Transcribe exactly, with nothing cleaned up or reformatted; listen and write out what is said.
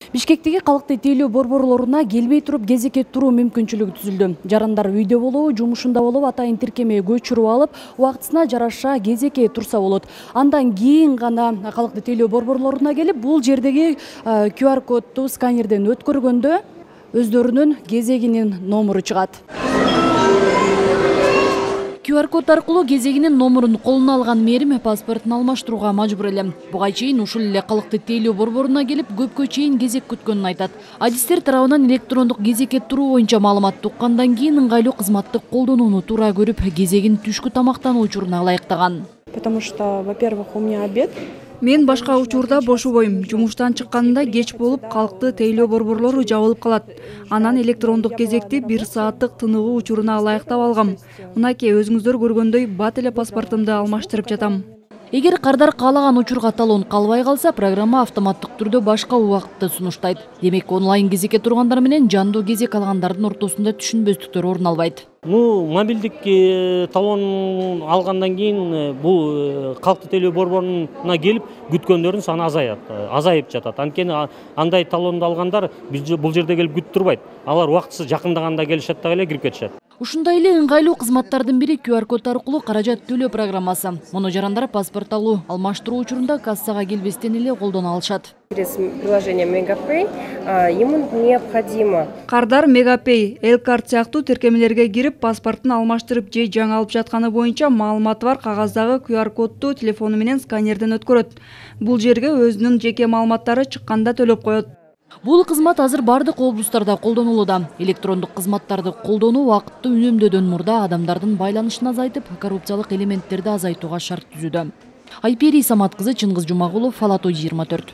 Бишкектеги калкты тейлөө борборлоруна келбей туруп кезекке туруу мүмкүнчүлүгү түзүлдү. Жарандар үйдө болобу, жумушунда болобу атайын тиркемеге көчүрүп алып, убактысына жараша кезекке турса болот. Андан кийин гана калкты тейлөө борборлоруна келип, бул жердеги ку ар кодду сканерден өткөргөндө өздөрүнүн кезегинин номуру чыгат. ку ар код аркылуу кезегинин номурун колуна алган мээрим паспортун алмаштырууга мажбур эле. Буга чейин ушул эле калкты тейлөө борборуна келип, көпкө чейин кезек күткөнүн айтат. Адистер тарабынан электрондук кезекке туруу боюнча маалыматты уккандан кийин ыңгайлуу кызматты колдонууну туура көрүп, кезегин түшкү тамактануу учуруна ылайыктаган. Потому что, во-первых, у меня обед. Мен башка учурда бошобойм. Жумуштан чыкканымда кеч болуп, калкты тейлөө борборлору жабылып калат. Анан электрондук кезекти бир сааттык тыныгуу учуруна ылайыктап алгам. Мынакей өзүңүздөр көргөндөй бат эле паспортумду алмаштырып жатам. Эгер кардар каалаган учурга талон калбай калса, программа автоматтык түрдө башка убакытты сунуштайт. Демек, онлайн кезекке тургандар менен жандуу кезек алгандардын ортосунда түшүнбөстүктөр орун албайт. Ну, мобилдик талон алгандан кийин бул калкты тейлөө борборуна келип күткөндөрдүн саны азаят, азайып жатат. Анткени андай талонду алгандар бул жерде келип күтүп турбайт. Алар убактысы жакындаганда келишет дагы эле кирип кетишет. Ушундай эле ыңгайлуу кызматтардын бири ку ар код аркылуу каражат төлөө программасы. Муну жарандар паспорт алуу, алмаштыруу учурунда кассага келбестен эле колдоно алышат. Через приложение Мегапэй ему необходимо. Кардар Мегапэй, Элкарт сыяктуу тиркемелерге кирип, паспортун алмаштырып же жаңы алып жатканы боюнча маалыматы бар кагаздагы ку ар кодду телефону менен сканерден өткөрөт. Бул жерге өзүнүн жеке маалыматтары чыкканда төлөп коет. Бул кызмат азыр бардык облустарда колдонулууда. Электрондук кызматтарды колдонуу убакытты үнөмдөдөн мурда адамдардын байланышын азайтып, коррупциялык элементтерди азайтууга шарт түзүүдө. Айпери Самат кызы, Чыңгыз Жумагулов, Фала той жыйырма төрт.